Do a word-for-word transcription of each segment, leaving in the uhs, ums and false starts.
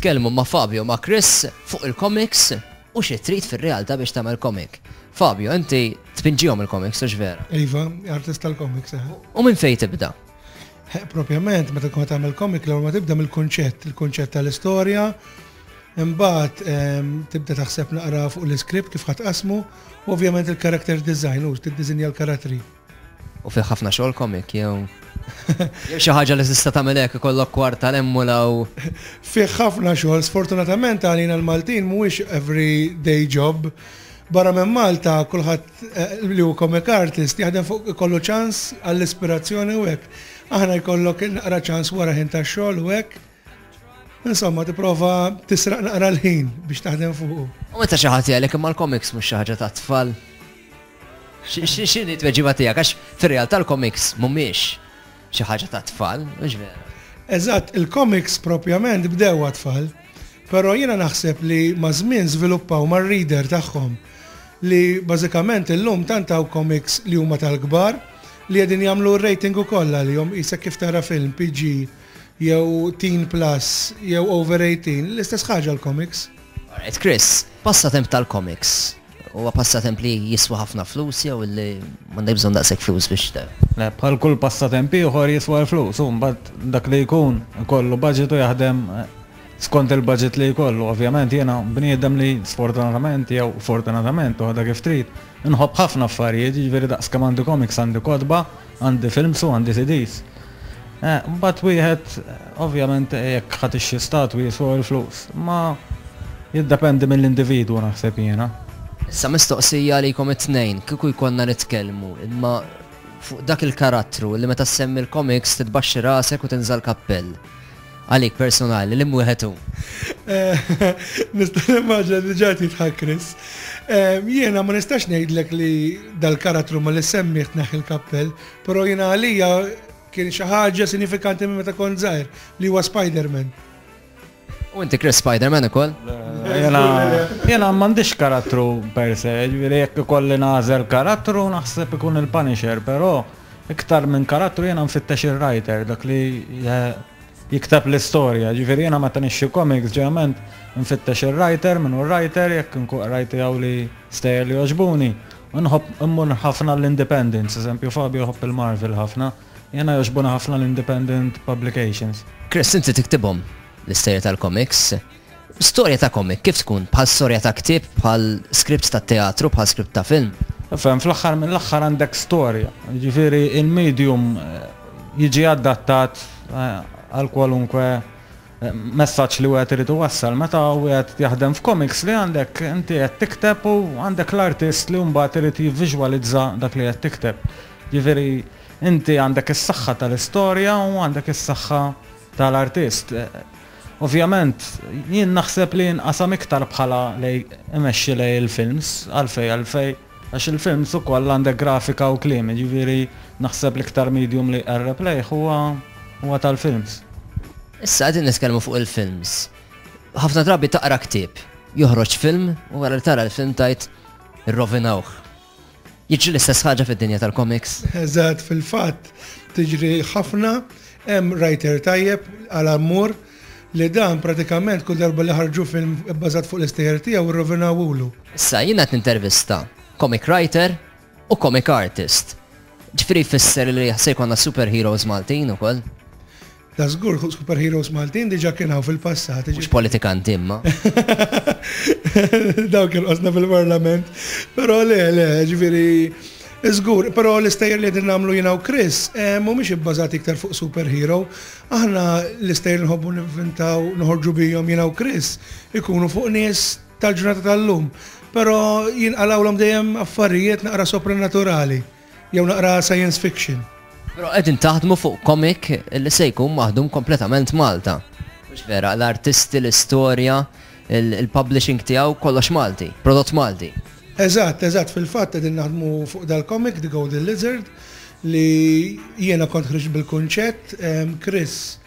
nitkellmu ma' Fabio, ma' Chris fuq il-comics u xi trid fir-realtà biex tagħmel comic. Fabio, inti tpinġihom il-comics, hux vera? Iva, artist tal-comics. Eh. U minn fejn tibda? Eh, propjament, meta tkun tagħmel comic, l-ewwel ma tibda mill-kunċett, il-kunċett tal-istorja, imbagħad ehm, tibda taħseb naqra fuq l-iskript kif ħa tqassmu, u ovvjament il-character design, u tiddisinja l-karattri. U fih ħafna xogħol comic jew jew xi ħaġa li tista' tagħmel hekk, ikollok kwarta l-emmula u Fih ħafna xogħol, sfortunatament għalina l-Maltin mhuwiex every day job. Barra minn Malta kulħadd eh, li hu comic artist jaħdem fuq ikollu ċans għall-ispirazzjoni u hekk. Aħna jkollok naqra ċans wara ħin tax-xogħol u hekk. Insomma, tipprova tisraq naqra l-ħin biex taħdem fuqu. U meta xi ħadd jgħidlek, "Imma l-comics mhux xi ħaġa ta' tfal." X'inhi tweġiba tiegħek? Għax fir-realtà l-comics mhumiex xi ħaġa ta' tfal, mhux vera? Eżatt, il-comics propjament bdew għat-tfal, però jiena naħseb li maż-żmien żviluppaw mar-reader tagħhom, li bażikament illum tant hawn comics li huma tal-kbar li qegħdin jagħmlu rating ukoll għalihom, qisek kif tara film P G jew Teen Plus jew Over eighteen, l-istess ħaġa l-comics. Alright, Chris, passatemp tal-comics. Huwa passatemp li jiswa ħafna flus jew li m'għandek bżonn daqshekk flus biex te? Le, bħal kull passatemp ieħor jiswa l-flus, u mbagħad dak li jkun kollu budget u jaħdem eh, skont il-budget li jkollu. Ovvjament jiena bniedem li sfortunatament jew fortunatament, u kif trid, nħobb ħafna affarijiet, jiġifieri daqs kemm għandi comics għandi kotba, għandi films u għandi C Ds. Eh, Mbagħad wieħed ovvjament jekk ħa tixtri statwi jiswa l-flus, ma jiddependi mill-individwu, naħseb jiena. Issa mistoqsija għalikom it-tnejn, kieku jkollna nitkellmu, imma fuq dak il-karattru li meta semmi l-comics titbaxxi rasek u tinżal kappell. Għalik personali, li wieħed hu? Eh, Nista' nimmaġina diġà jidħak Chris. Eh, Jiena ma nistax ngħidlek li dal-karattru ma li semmih tneħħi l-kappell, però jiena għalija kien xi ħaġa sinifikanti minn meta kont żgħir, li huwa Spider-Man. U inti, Chris, Spider-Man ukoll? Jena, jena m'għandix karattru per se, ġifieri jekk ikolli nagħżel karattru naħseb ikun il-Punisher, però iktar minn karattru jena nfittex il-writer, dak li eh, jikteb l-istorja. Ġifieri jena meta nixtri comics ġeneralment nfittex il-writer, minn hu writer, jekk nkun rajt jew li stejjer li jogħġbuni. Nħobb immur ħafna l-Independents, eżempju Fabio jħobb il-Marvel ħafna, jena jogħġbuna ħafna l-Independent Publications. Chris, inti tiktibhom l-istejjer tal-comics. Storja ta' comic, kif tkun? Bħal storja ta' ktieb, bħal scripts ta' teatru, bħal script ta' film? Fem, fl-aħħar mill-aħħar għandek storja. Ġifieri il-medium eh, jiġi adattat eh, għal kwalunkwe eh, messaġġ li wieħed irid iwassal. Meta wieħed jaħdem f'comics, li għandek inti qed tikteb u għandek l-artist li mbagħad irid jivviżwalizza dak li qed tikteb. Ġifieri inti għandek is-saħħa tal-istorja u għandek is-saħħa tal-artist. Eh, Ovvjament, jien naħseb li nqasam iktar bħala li imexxi lej il-films, għalfej, għalfej, għax il-films ukoll għandek grafika u kliem, ġifieri naħseb l-iktar medium li qarreb lejh huwa huwa tal-films. Issa qegħdin nitkellmu fuq il-films. Ħafna drabi taqra ktieb, joħroġ film u wara li tara l-film tgħid, "Irrovinawh." Jiġri l-istess ħaġa fid-dinja tal-comics? Eżatt, fil-fatt tiġri ħafna. Hemm writer tajjeb għal ammur li dan pratikament kull darba li ħarġu film bbażat fuq l-istejjer tiegħu rrovinawulu. Issa jiena qed nintervista comic writer u comic artist. Ġifieri jfisser li se jkollna superheroes Maltin ukoll? Da żgur, superheroes Maltin diġà kien hawn fil-passat. Mhux politikanti imma. Dawk il-qosna fil-parlament. Però le, le, ġifieri, żgur, però l-istejjer li qegħdin nagħmlu jiena u Chris eh, mhumiex ibbażati iktar fuq superhero. Aħna l-istejjer nħobbu ninventaw, noħorġu bihom jiena u Chris, ikunu fuq nies tal-ġurnata tal-lum. Però jinqalawlhom dejjem affarijiet naqra sopranaturali jew naqra science fiction. Però qegħdin taħdmu fuq comic li se jkun maħdum kompletament Malta. Mhux vera, l-artisti, l-istorja, il-publishing tiegħu, kollox Malti, prodott Malti. Eżatt, eżatt, fil-fatt qegħdin naħdmu fuq dal-comic, The Golden Lizard, li jiena kont ħriġt bil-kunċett, em, Chris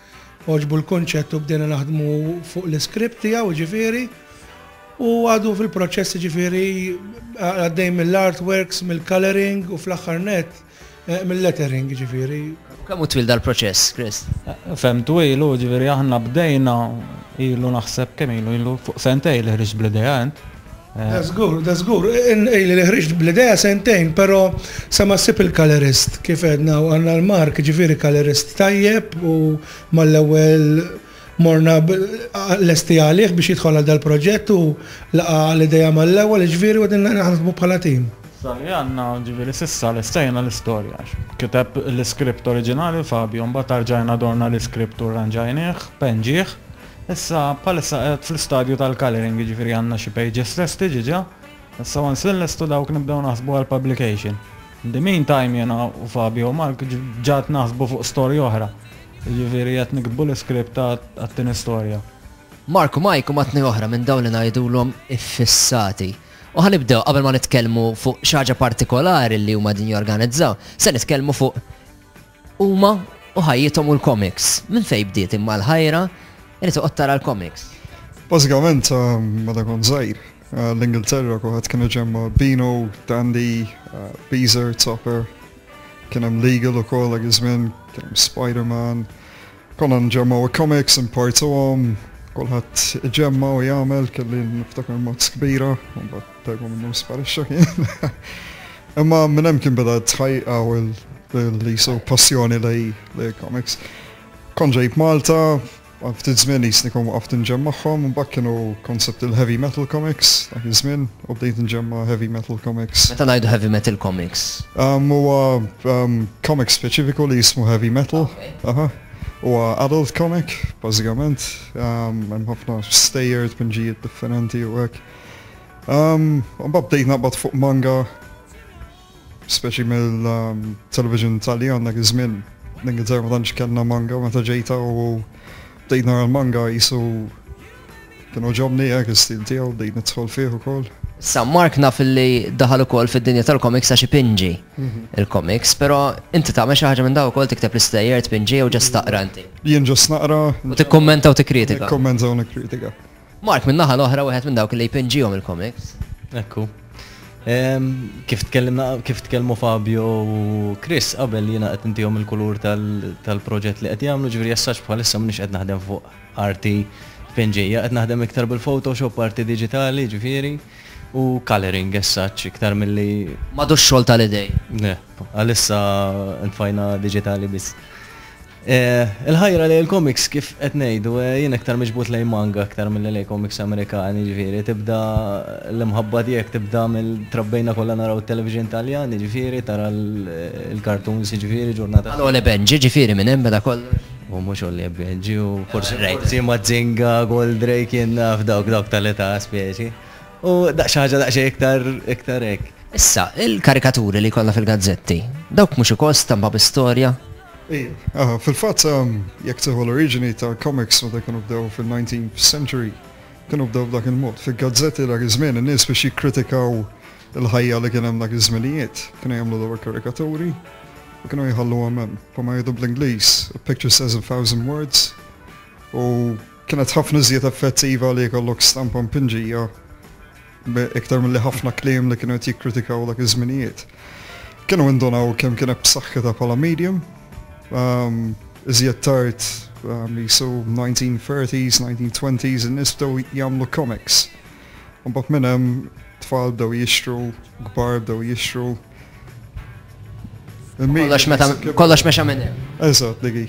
għoġbu l-kunċett u bdejna naħdmu fuq l-iskript tiegħu ġifieri, u għadu fil-proċess, ġifieri għaddej mill-artworks, mill-coloring u fl-aħħar net eh, mill-lettering ġifieri. Kemm hu twil dal-proċess, Chris? Fem, twil, ġifieri aħna bdejna Ilu naħseb kemm ilu ilu fuq sentejn li ħriġt bl-idea int. Da żgur, da żgur, ili li ħriġt bl-idea sentejn, però sa ma ssib il-colorist, kif għedna, u għandna l-Mark, ġifieri colorist tajjeb, u mal-ewwel morna lesti għalih biex jidħol għal dal-proġett u laqa l-idea mal-ewwel, ġifieri u qegħdin naħdmu bħala tim. Sali għandna, ġifieri s'issa lestejna l-istorja. Kiteb l-iskript oriġinali Fabio, mbagħad rġajna dorna l-iskript u rranġajnieh, penġieh. Issa bħalissa qed fl-istadju tal-coloring, ġifieri għandna xi pages lesti ġiġa. Issa once li nlestu dawk nibdew naħsbu għal publication. In the meantime jena u Fabio u Mark ġat naħsbu fuq storja oħra. Ġifieri qed niktbu l-iskript għat-tieni storja. Mark u Mike huma tnejn oħra minn dawn li ngħidulhom iffissati. U ħa nibdew qabel ma nitkellmu fuq xi ħaġa partikolari li huma din jorganizzaw, se nitkellmu fuq huma u ħajjithom u l-comics. Minn fejn bdiet imma l-ħajra li toqgħod tara l-comics? Bażikament, meta kont żgħir, l-Ingilterra kulħadd kienu ġemma Beano, Dandy, Beezer, Topper, kien hemm Legal ukoll dak iż-żmien, kien hemm Spider-Man. Konna nġemmaw comics, importuhom, kulħadd iġemma u jagħmel, kelli niftakar mazz kbira, u mbagħad darba minnhom sparixxa kien. Imma minn hemm kien beda tħajqa u l-liso passjoni lej lej comics. Kont ġejt Malta, għal ftit żmien jisni kon waqaft nġemmagħhom, u mbagħad kienu concept il-heavy metal comics dak iż-żmien, u bdejt nġemma heavy metal comics. Meta ngħidu heavy metal comics? Um, Huwa um, comic speċifiku li jismu heavy metal. Aha. Huwa adult comic, bażikament. Um, Hemm ħafna stejjer, tpinġijiet differenti u hekk. Um, Mbagħad bdejt naqbad fuq manga, speċi mill-television Taljan dak iż-żmien. L-Ingilterra ma tantx kellna manga meta ġejta u bdejt nara l-manga jisu kien għoġobni hekk is-stil tiegħu, bdejt nidħol fih ukoll. Sa Mark naf li daħal ukoll fid-dinja tal-comics għax ipinġi il-comics, però inti tagħmel xi ħaġa minn daw ukoll, tikteb l-istejjer, tpinġi u just taqra inti? Jien just naqra. U tikkummenta u tikkritika. Nikkommenta u nikkritika. Mark minn naħa l-oħra wieħed minn dawk li jpinġihom il-comics. Ekku. Em, Kif tkellimna, kif tkellmu Fabio u Chris qabel, jiena qed intihom il-kulur tal- tal-proġett li qed jagħmlu, ġifieri jessax bħalissa m'iniex qed naħdem fuq arti tpinġija, qed naħdem iktar bil-Photoshop, arti diġitali, ġifieri, u coloring essaċ iktar milli M'għadux xogħol tal-idej. Ne, għalissa nfajna diġitali biss. Eh, Il-ħajra li l-comics, kif qed ngħidu, eh, jien iktar miġbut lejn manga aktar milli lejn comics Amerikani, ġifieri tibda l-imħabba tiegħek tibda mill-trabbejna kollha naraw it-television Taljan, ġifieri tara l- il-cartoons, ġifieri ġurnata. Għal Ole Benji, ġifieri minn hemm beda kollu. U mhux Olli Benji u forsi Right. forsi Mazinga, Goldrake, jien naf dawk dawk tal-età speċi. U daqs ħaġa daqsxejn iktar iktar hekk. Issa, il-karikaturi li kollha fil-gazzetti, dawk mhux ukoll stampa bi storja? Ija, aha, fil-fatt um, jekk tieħu l-oriġini ta' comics meta kienu bdew fil-nineteenth century, kienu bdew b'dak il-mod. Fil-gazzetti dak iż-żmien in-nies biex jikkritikaw il-ħajja li kien hemm dak iż-żminijiet, kienu jagħmlu dawn il-karikaturi u kienu jħalluhom hemm. Bħalma jgħidu bl-Ingliż, "A picture says a thousand words." U kienet ħafna iżjed effettiva li jkollok stampa mpinġija iktar mill-li ħafna kliem li kienu qed jikkritikaw dak iż-żminijiet. Kienu indunaw kemm kienet b'saħħitha bħala medium. Um, iżjed tard, um, jisu nineteen thirties, nineteen twenties, in-nies bdew jagħmlu comics. U mbagħad minn hemm tfal bdew jixtru, kbar bdew jixtru. Kollox meta kollox mexa minn hemm. Eżatt, digi.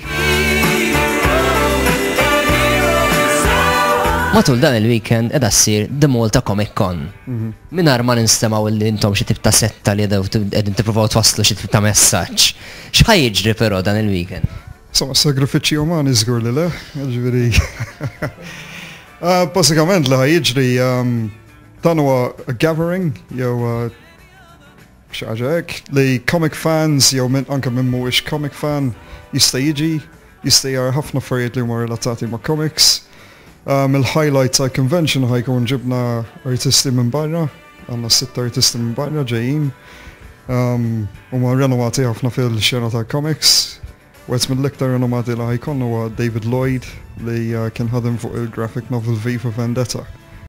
Matul dan il-weekend edha ssir The Malta Comic Con. Mingħajr ma ninstemgħu li intom xi tip ta' setta li qegħdin tippruvaw twasslu xi tip ta' messaġġ. X'ħa jiġri però dan il-weekend? Insomma, sagrifiċċji umani żgur li le, ġifieri. Uh, Bażikament li ħa jiġri, um, dan huwa a gathering jew uh, xi ħaġa hekk li comic fans jew minn anke minn mhuwiex comic fan jista' jiġi, jista' jara ħafna affarijiet li huma relatati ma' comics. Um, il-highlight ta' convention ħa jkun ġibna artisti minn barra, għandna sitt artisti minn barra ġejjin. Um, huma renomati ħafna fil-xena ta' comics. Wieħed mill-iktar renomati li ħa jkun huwa David Lloyd li uh, kien ħadem fuq il-graphic novel V for Vendetta.